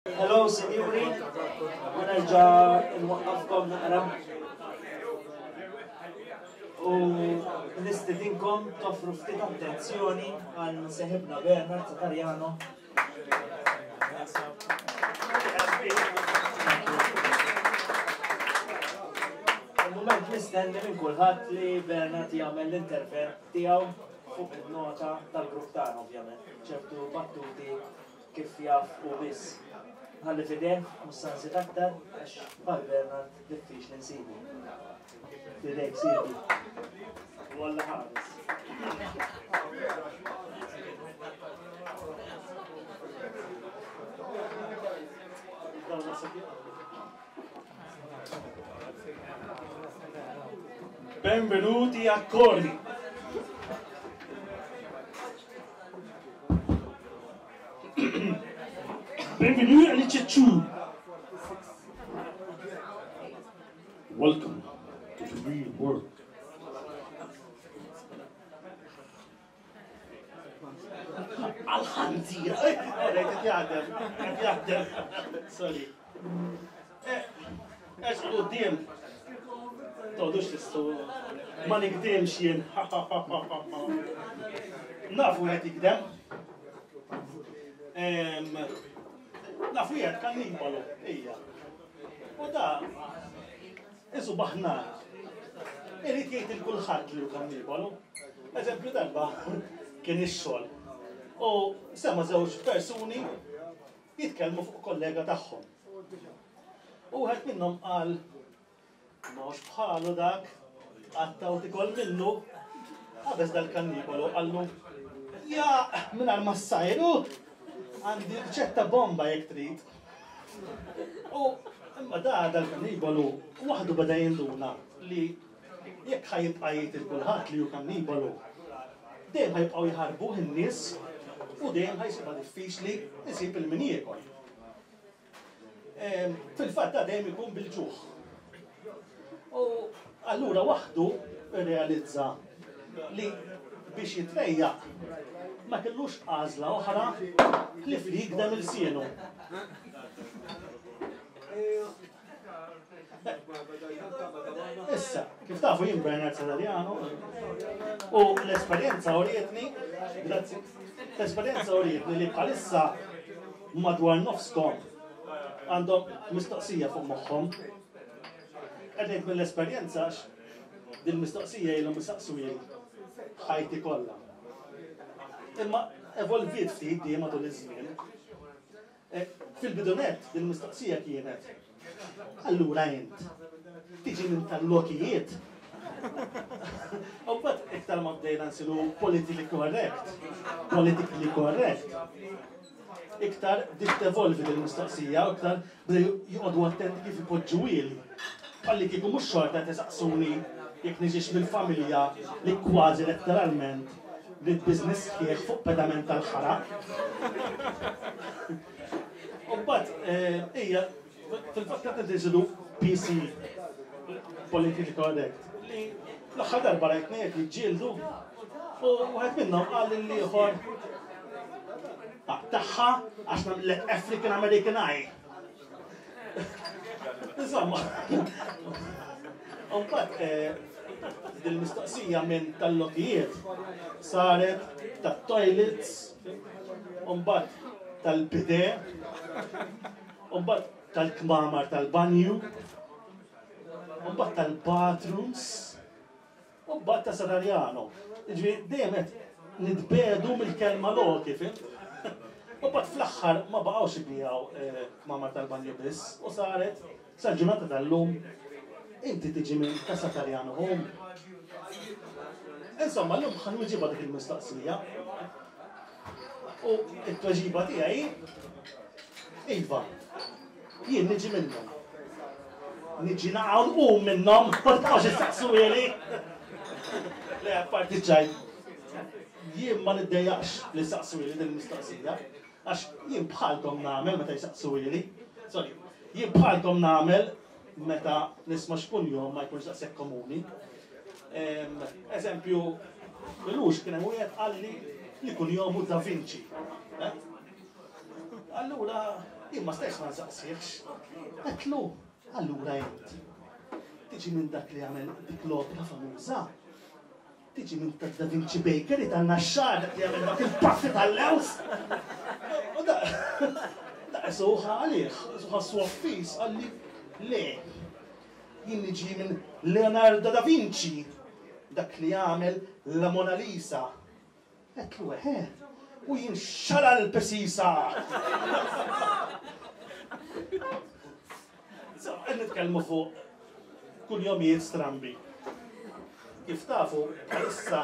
Hello, sinjuri, u nerġa' nwaqqafkom naqra. U nistidinkom toffru ftit attenzjoni għal seħibna Bernard Satarjano. Il-moment mistenni minn kulħadd li Bernard jagħmel l-intervent tiegħu fuq il-nota tal-grupp tagħna ovvjament, ċertu battuti Kif jaf hu biss. Nħalli f'idejh, mhux sa nżid aktar, għax bħal Bernard diffiċli nsibu. F'idejk sidi. U Alla ħares. Benvenuti a Corni. Bienvenue à l'Ichachou. Welcome to the real world. Għal-ħanzira! Qed jaħdem, qed jaħdem. Sorry. Ex quddiem. Toqgħodux tistu. Ma nikdimx jien. Nafu qed jikdem. Nafu jgħid kannibalu, ejja. U da, isu baħnar. Irid jgħid il kulħadd li hu kannibalu. Eżempju darba kien ix-xogħol. U sema żewġ persuni jitkellmu fuq kollega tagħhom. U wieħed minnhom qal ma hux bħalu dak, qatta u tikol minnu. Qabeż dal-kannibolu qallu ja mingħajr ma ssajru għandi riċetta bomba jekk trid. U imma da dal-kannibolu waħdu beda jinduna li Jekk ħa jibqa' jgħid lil kulħadd li hu kannibalu, dejjem ħa jibqgħu jħarbuh in-nies u dejjem ħa jsibha diffiċli jsib 'il min jiekol. Fil-fatt da dejjem ikun bil-ġuħ. U allura waħdu rrealizza li biex jitrejjaq ma kellux għażla oħra ħlief li jigdem ilsienu. Issa, kif tafu jien Bernard Sadariano u l-esperjenza urietni, grazzi, l-esperjenza urietni li bħalissa madwar nofskom għandhom mistoqsija fuq moħħhom. Qed mill-esperjenza għax din mistoqsija ilhom isaqsu ħajti kollha. Imma evolviet ftit di matul iż-żmien. Eh, fil-bidu nett, din il-mistoqsija kienet, allura int, tiġi minn tal-lokijiet? U mbagħad iktar ma bdejna nsiru politically correct, politically correct, iktar bdiet tevolvi din il-mistoqsija, iktar bdew joqogħdu attenti kif ipoġġuhieli. Bħalli kieku mhux xorta qed isaqsuni jekk niġix mill-familja li kważi letteralment bdiet business sħiħ fuq pedament tal-ħara. U mbagħad eh, hija fil-fatt qed insidu PC politically correct li l-aħħar darba rajt ngħid jiġġieldu u wieħed minnhom qal lil ieħor tagħha għax nagħmlek African American Eye. Insomma, Umbat, eh, dil-mistoqsija minn tal-lokijiet saret tat-toilets, umbat tal-bide, umbat tal-kmamar tal-banju, umbat tal-bathrooms, U mbagħad ta' Sadarjano. Jiġifieri dejjem qed nitbiegħdu mill-kelma loki, fhimt? U mbagħad fl-aħħar ma baqgħux ibigħu eh, kmamar tal-banju biss u saret sal-ġurnata tal-lum inti tiġi minn ta' Satarjano Home. Insomma, l-lum ħa nwiġibha dik il-mistoqsija. U t-tweġiba tiegħi iva, Jien niġi minnhom. Niġi naqa' nqum minnhom, ma tibqgħux issaqsuhieli. Le, apparti ċajt. Jien ma niddejjaqx li saqsuhieli din il-mistoqsija, għax jien bħalkom nagħmel meta jsaqsuhieli. Sorry, jien bħalkom nagħmel meta nisma' x'kunjom ma jkunx daqshekk komuni. Eżempju, m'ilux kien hemm wieħed qalli li kunjomu Da Vinci. Eh? Allura. Jien ma stajtx ma nsaqsihx. Għedtlu, allura int tiġi minn dak li għamel dik l-opra famuża? Tiġi minn ta' Da Vinci Bakery tan-Naxxar dak li jagħmel dak il-paffi tal-lewż? U da da qisu ħa għalih, qisu ħassu affiż, qalli le. Jien niġi minn Leonardo da Vinci, dak li għamel la Mona Lisa. Għedtlu eħe, u jien xala l-pesisa! So, qed nitkellmu fuq kunjomijiet strambi. Kif tafu, bħalissa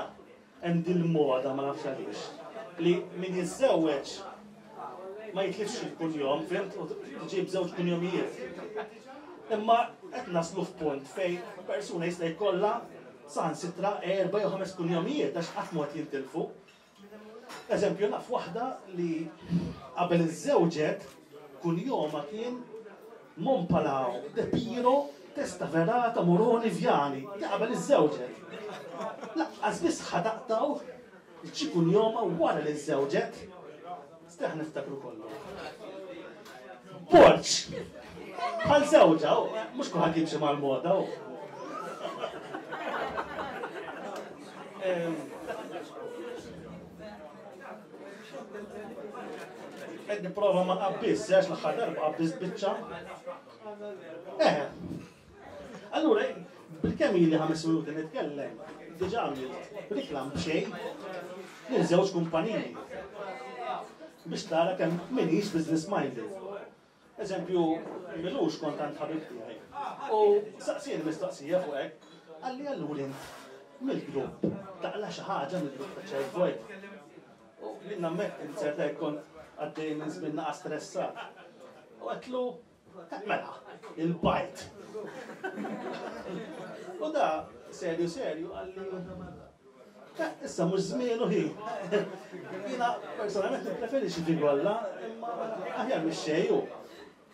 hemm dil-moda ma nafx għaliex li min jiżżewweġ ma jitlifx il-kunjom, fimt, u tiġi b'żewġ kunjomijiet. Imma qed naslu f'punt fejn persuna jista' jkollha saħansitra erba' jew ħames kunjomijiet għax qatt mod jintilfu. Eżempju, naf waħda li qabel iżżewġet kunjomha kien Mompalao de Piro Testaverata Moroni Viani, di qabel iżżewġet. Laqqas biss ħa taqtgħu xi kunjomha wara li żżewġet. Steħ niftakru kollu. Borġ! Bħal żewġha, mhux kulħadd jimxi mal-moda. Qed nipprova ma nqabbiż, għax l-aħħar darba qabbiżt biċċa. Eh. Allura, bilkemm ili ħames minuti nitkellem, diġà għamilt riklam b'xejn lil żewġ kumpaniji biex tara kemm minix business minded. Eżempju, milux kont għand ħabib tiegħi. U saqsieni mistoqsija fuq hekk, qalli allura int mill-grupp taqla' xi ħaġa mill-grupp ta' Child Void. U jien nammetti li ċerta hekk kont għaddej minn żmien naqa' stressat. U għedtlu, mela, il-bajt. U da, serju serju, qalli, Issa mhux żmienu hi. Jiena personalment nippreferi xi figolla, imma aħjar mix xejn hu.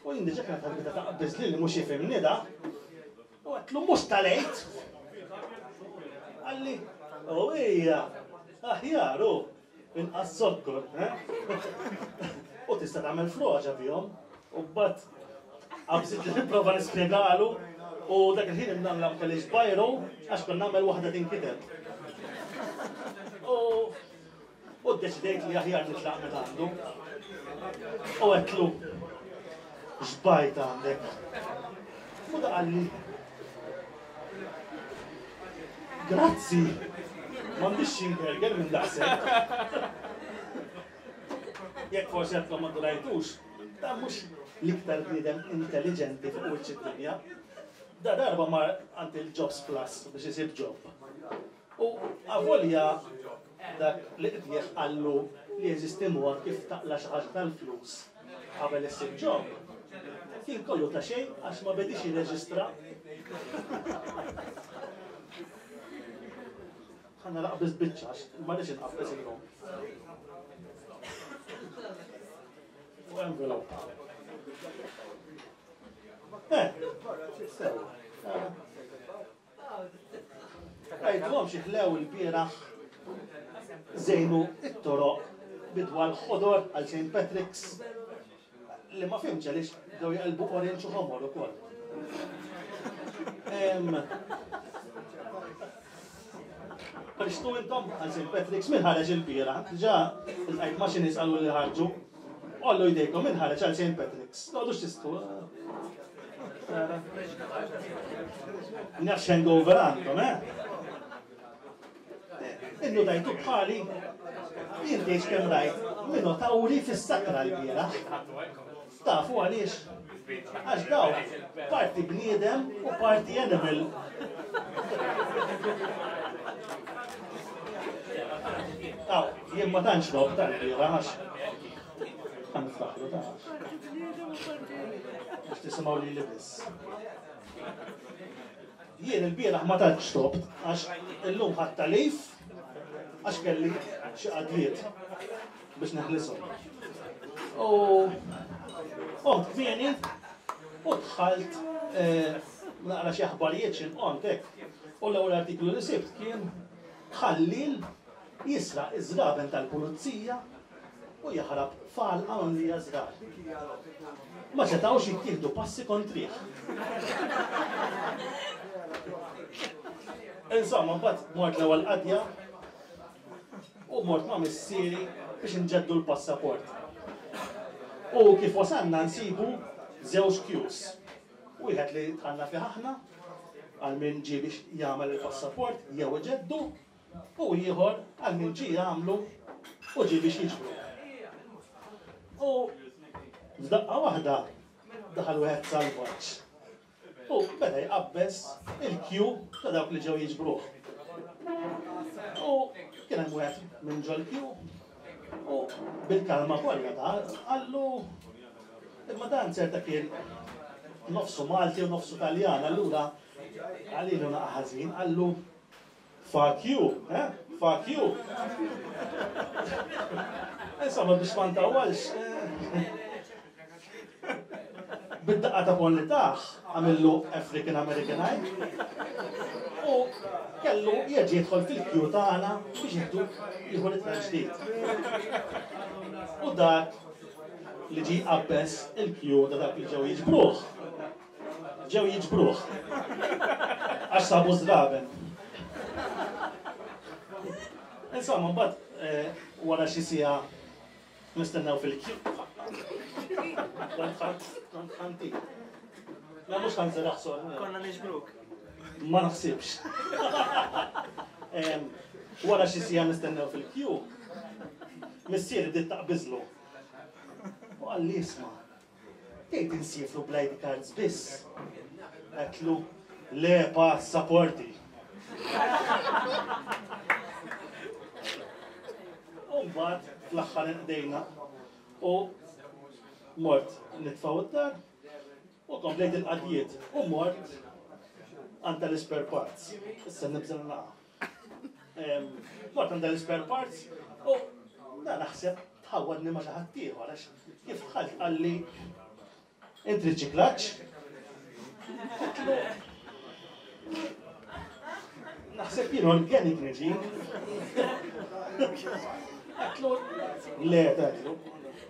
U jien diġà kienet ħadbita taqbiż li mhux jifhimni da. U għedtlu mhux tal-għid. Qalli, u hija, aħjar hu, inqas zokkor, eh? U tista' tagħmel froġa bihom. U mbagħad qabżit li nipprova nispjegalu u dak il-ħin imnalla ma kellix bajru għax kont nagħmel waħda tinkiteb. U u ddeċidejt li aħjar nitlaq minn għandu. U għedtlu x'bajt għandek. U da qalli Grazzi! M'għandix xi ngerger minn daqshekk. Jekk forsi għadkom ma ndunajtux, dan mhux l-iktar bniedem intelliġenti fuq wiċċ id-dinja. Da darba mar għand il-Jobs Plus biex isib job. U avolja dak li qdieh qallu li jeżisti mod kif taqla' xi ħaġa tal-flus qabel issib job, kien kollu ta' xejn għax ma bediex jirreġistra. Ħa nagħlaq biss biċċa għax ma rridx inqabbeż illum. U envelope. Eh, sewa. Għidlhom xi ħlew il-bieraħ żejnu it-toroq bidwal ħodor għal St. Patrick's li ma fhimtx għaliex bdew jaqilbu orange u ħomor ukoll. Ħriġtu intom għal St. Patrick's min ħareġ il-bieraħ? Diġà iltqajt ma' xi nies qalu li ħarġu. Għollu jdejkom min ħareġ għal St. Patrick's. Toqgħodux tistħu. Nafx hangover għandkom, eh? Innutajtu bħali? Jien tgħidx kemm rajt minotawri fis-sakra lbieraħ. Tafu għaliex? Għax dawk parti bniedem u parti animal. Aw, jien ma tantx rob tal-bieraħ għax ħa niftaħlu ta' Biex tisimgħu lili biss. Jien ilbieraħ ma tantx xrobt għax illum ħadt tagħlif għax kelli xi qadliet biex neħlishom. U qomt kmieni u dħalt eh, naqra xi aħbarijiet xi nqont hekk. U l-ewwel artiklu li sibt kien ħallil jisraq iż-żraben tal-pulizija. u jaħrab f'għalqa mimlija żrar. Ma setgħux jittieħdu passi kontrih. Insomma, mbagħad mort l-ewwel qadja u mort ma' missieri biex inġeddu l-passaport. U kif wasalna nsibu żewġ queues. Wieħed li dħalna fih aħna għal min ġie biex jagħmel il-passaport jew iġeddu u ieħor għal min ġie jagħmlu u ġie biex jiġbru. U f'daqqa waħda daħal wieħed salvaġġ u beda jqabbeż il-kju ta' dawk li ġew jiġbruh. U kien hemm wieħed minn ġol-kju u bil-kalma kollha ta' qallu imma dan certa kien nofsu Malti u nofsu Taljan, allura għalilu naqa' ħażin, qallu Fuck you, eh? Fuck you. Insomma, biex ma ntawwalx. Eh, bid-daqqa ta' pon li taħ, għamillu African American Eye. U kellu jerġa' jidħol fil-kju tagħna biex jieħdu jieħu ritratt ġdid. U dak li ġie jqabbeż il-kju ta' dak li ġew jiġbruh. Ġew jiġbruh. Għax sabu żraben. Insomma, mbagħad eh, wara xi siegħa nistennew fil-kju. Kont ħanti. Ma mhux ħanżel aħsor. Konna niġbruk. Ma naħsibx. Wara xi siegħa nistennew fil-kju, missieri bdiet taqbiżlu. U qalli isma' Tgħid insiefru bl-ID cards biss? Għedtlu, le passaporti. U mbagħad fl-aħħar inqdejna u mort nitfgħu d-dar u komplejt il-qadjiet u mort għand tal-ispare parts. Issa nibża' naqa'. Mort għand l-spare parts u da naħseb tħawwadni ma' xi ħadd ieħor għax kif dħalt qalli int riċiklaġġ. Naħseb jien organic niġi. Għatlu, le, għatlu,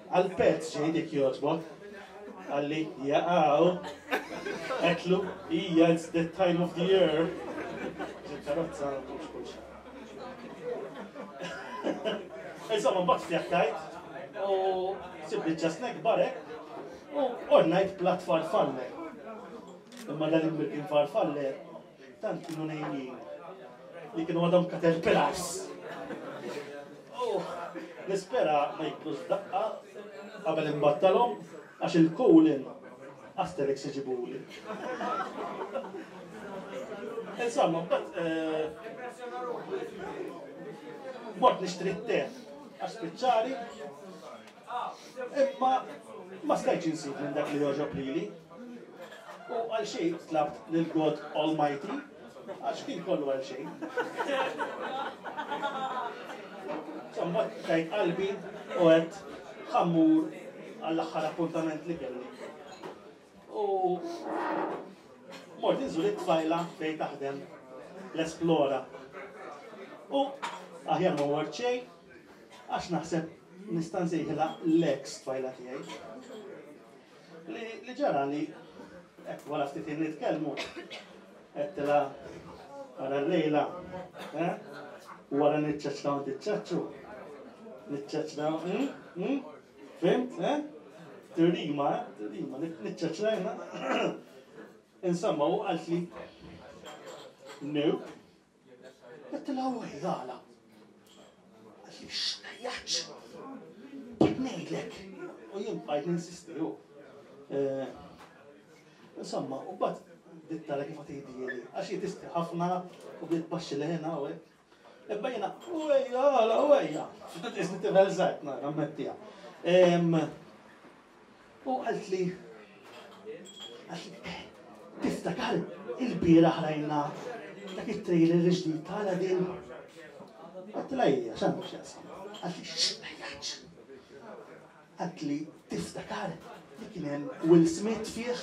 għal-pezz ġej dik jogħġbok. Qalli, jaqaw. Għedtlu, ija, it's that time of the year. Karozza, mhux kull xahar. Insomma, mbagħad fjaktajt u sib biċċa snack barek u ordnajt plat farfalle. Imma dan il-mirkin farfalle tant kienu nejjin li kienu għadhom caterpillars. U nispera ma jikblux f'daqqa qabel imbattalhom għax il-cooling Asterix iġibuli. Insomma, mbagħad eh, mort nixtri t-te għax spiċċali Imma ma stajtx insib minn dak li jogħġob lili. U għal xejn tlabt lil God Almighty, għax kien kollu għal xejn. Insomma, tajt qalbi u għedt ħammur għall-aħħar appuntament li kelli. U mort inżur it-tfajla fejn taħdem l-Esplora. U aħjar ma mort xejn, għax naħseb nista' nsejħilha l-ex tfajla tiegħi. Li, li ġara li hekk wara ftit ħin nitkellmu għedtilha wara l-lejla, eh? Wara niċċaċċraw niċċaċċu. Niċċaċċraw, hm? Hm? Fhimt, eh? Tirrima, eh? Tirrima, niċċaċċrajna. Insomma, u qaltli, no. Għedtilha u għala. Qaltli, x'tgħajjatx? Qed ngħidlek. U jien bqajt ninsisti hu. Eh, insomma, u bat bdiet tara kif għatejdieli, għax hi tisti ħafna u bdiet tbaxxi leħinha u hekk. Imma jiena, u ejja, għala, u ejja. Isni tifel żgħir, nammettiha. U qaltli, qaltli, eh, tiftakar il-bieraħ rajna dak it-trailer il-ġdid ta' Aladdin? Għedtilha ija, x'għandu x'jaqsam? Qaltli, x'tgħajjatx? Qaltli, tiftakar li kien hemm Will Smith fih?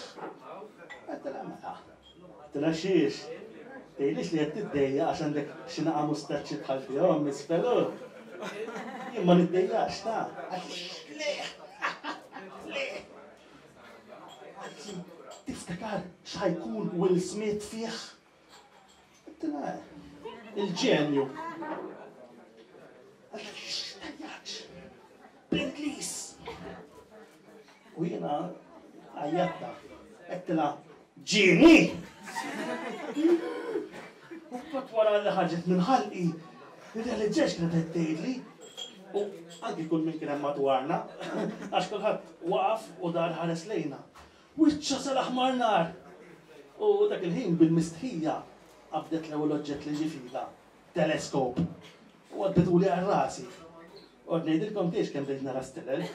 Għedtilha mela. Għedtilha xiex? Tgħidlix li qed tiddejjaq għax għandek xi naqa' mustaċċi bħal tiegħu hemm isfel hu? Jien ma niddejjax ta' għax le! Le! Għaltli, tiftakar x'ħajkun Will Smith fih? Għedtilha, il-ġenju. Għaltli, x'tajjaċ? Bl-Ingliż. U jiena għajjatta, għedtilha, ġieni! U mbagħad wara li ħarġet minn ħalqi, irrealizzajt x'kienet qed tgħidli. U anki kull min kien hemm madwarna, għax kulħadd waqaf u dar ħares lejna. Wiċċha sar aħmar nar! U dak il-ħin bil-mistħija qabdet l-ewwel oġġett li ġie f'idha, teleskop. U għaddetuli għal rasi. U għad ngħidilkom tgħix kemm bdejt nara stilel.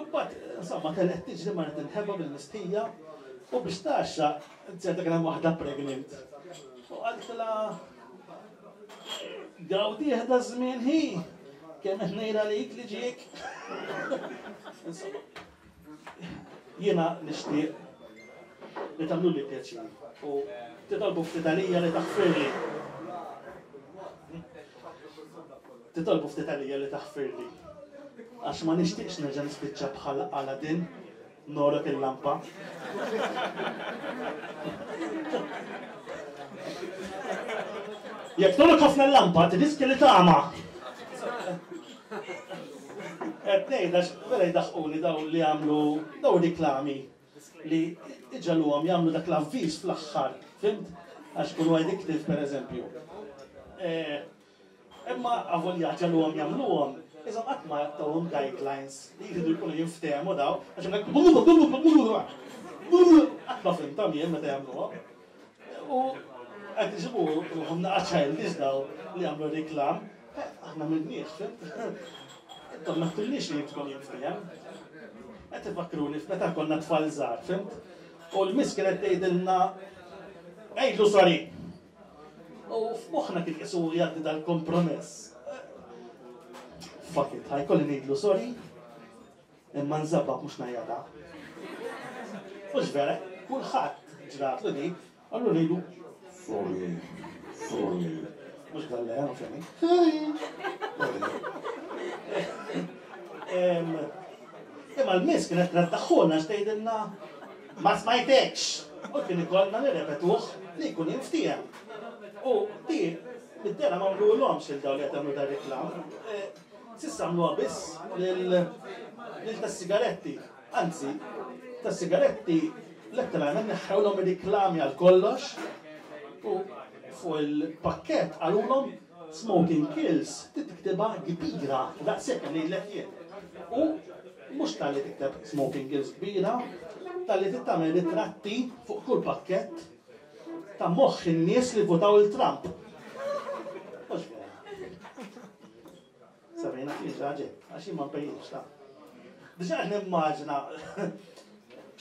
Imbagħad, insomma, telqet tiġri marret inħeba bil-mistħija u biex tgħaxxa nzerta kien hemm waħda pregnant. U qaltilha Gawdih da żmien hi, kemm qed ngħid għalik li ġiek. Insomma, jiena nixtieq li tagħmluli pjaċir u titolbu ftit għalija li taħfirli. Titolbu ftit għalija li taħfirli. Għax ma nixtieqx nerġa' nispiċċa bħal Aladdin Norok il-lampa. Jekk torok ħafna l-lampa, tirriskja li tagħma. Qed ngħid għax vera jdaħquni daw li jagħmlu daw riklami li iġagħluhom jagħmlu dak l-avviż fl-aħħar, fimt? Għax kunu addictive pereżempju. Eh, Imma avolja ġagħluhom jagħmluhom, iżhom qatt ma tawhom guidelines li jridu jkunu jinftehmu daw, għax hemmhekk qatt ma fhimthom jien meta jagħmluhom. U qed iġibu ruħhom naqa' childish daw li jagħmlu reklam, aħna minniex, fimt? Intom ma tillix li tkun jinftiehem. Qed ifakruni f'meta konna tfal żgħar, fimt? U l-miss kienet tgħidilna għidlu sorry. U f'moħħna kien qisu jgħaddi dal-kompromess. Fuck it, ħajkolli ngħidlu sorry, imma nżabbab mhux ngħajjata. Mhux vera, kulħadd ġratlu di, allura ngħidu sorry, sorry. Mhux dalle, ovvjament. Sorry. Imma l-miss kienet treddaħħulna x'tgħidilna Ma smajtekx! U kien ikollna nirrepetuh li jkun jinftiehem. U di mid-dehra ma għamluhomx lil dawn li qed jagħmlu dar-reklam. S'issa għamluha biss lil lil tas-sigaretti. Anzi, tas-sigaretti letteralment neħħewlhom ir-riklami għal kollox u fuq il-pakkett qalulhom Smoking kills trid tiktibha kbira daqshekk kemm ngħidlek jien. U mhux talli tikteb smoking kills kbira, talli trid tagħmel ritratti fuq kull pakkett ta' moħħ in-nies li votaw il Trump. Mhux vera. Sabrina kien ġaġe, għax jien ma npejjipx ta'. Diġà qed nimmaġina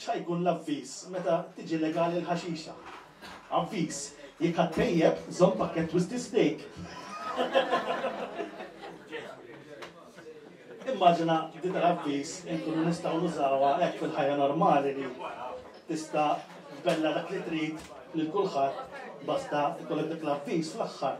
x'ħajkun l-avviż meta tiġi legali l-ħaxixa. Avviż, jekk ħadd tejjeb, żomm pakkett Twisted Steak. Immaġina di tal-avviż inkunu nistgħu nużawha hekk fil-ħajja normali li tista' tbella dak li trid lil kulħadd basta ikollok dak l-avviż fl-aħħar.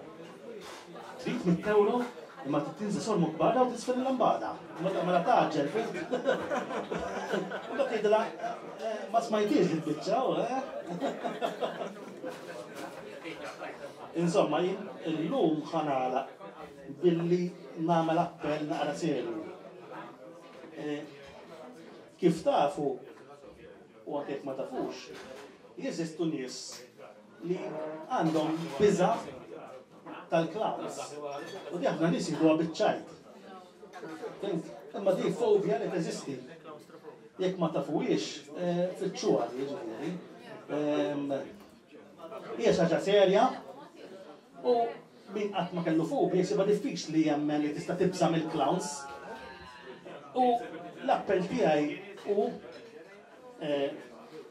Trid mitt ewro imma trid tinża' sormok barra u tiżfen il-lambada. Mela tgħaġġel, fhimt? U mbagħad tgħidilha eh, ma smajtiex il-biċċa, u eh? Insomma, jien illum ħa nagħlaq billi nagħmel appell naqra serju. Eh, kif tafu, u anke jekk ma tafux, jeżistu nies li għandhom biża' tal-clowns. U di ħafna nies jieħduha biċ-ċajt. Imma di fobja li teżisti. Jekk ma tafuhiex, eh, fittxuha di ġifieri. Ehm, hija xi ħaġa serja u min qatt ma kellu fobja jsibha diffiċli jemmen li tista' tibża' mill-clowns. U l-appell tiegħi hu eh,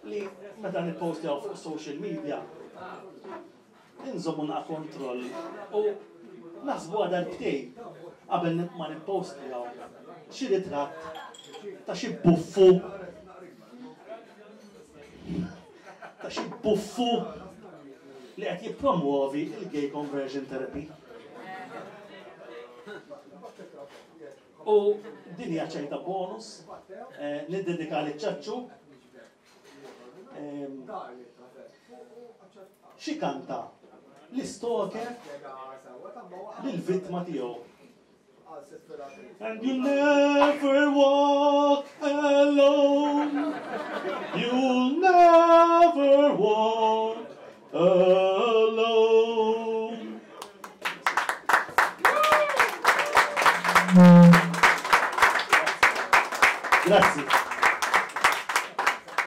li meta nippostjaw fuq social media inżommu naqa' kontroll u naħsbuha darbtejn qabel ma nippostjaw xi ritratt ta' xi buffu ta' xi buffu li qed jippromwovi l-gay conversion therapy. U din hija ċajta bonus, eh, niddedika li ċaċċu. Ehm, xi kanta l-istoker lill-vittma tiegħu. And you never walk alone. You'll never walk alone. Grazzi.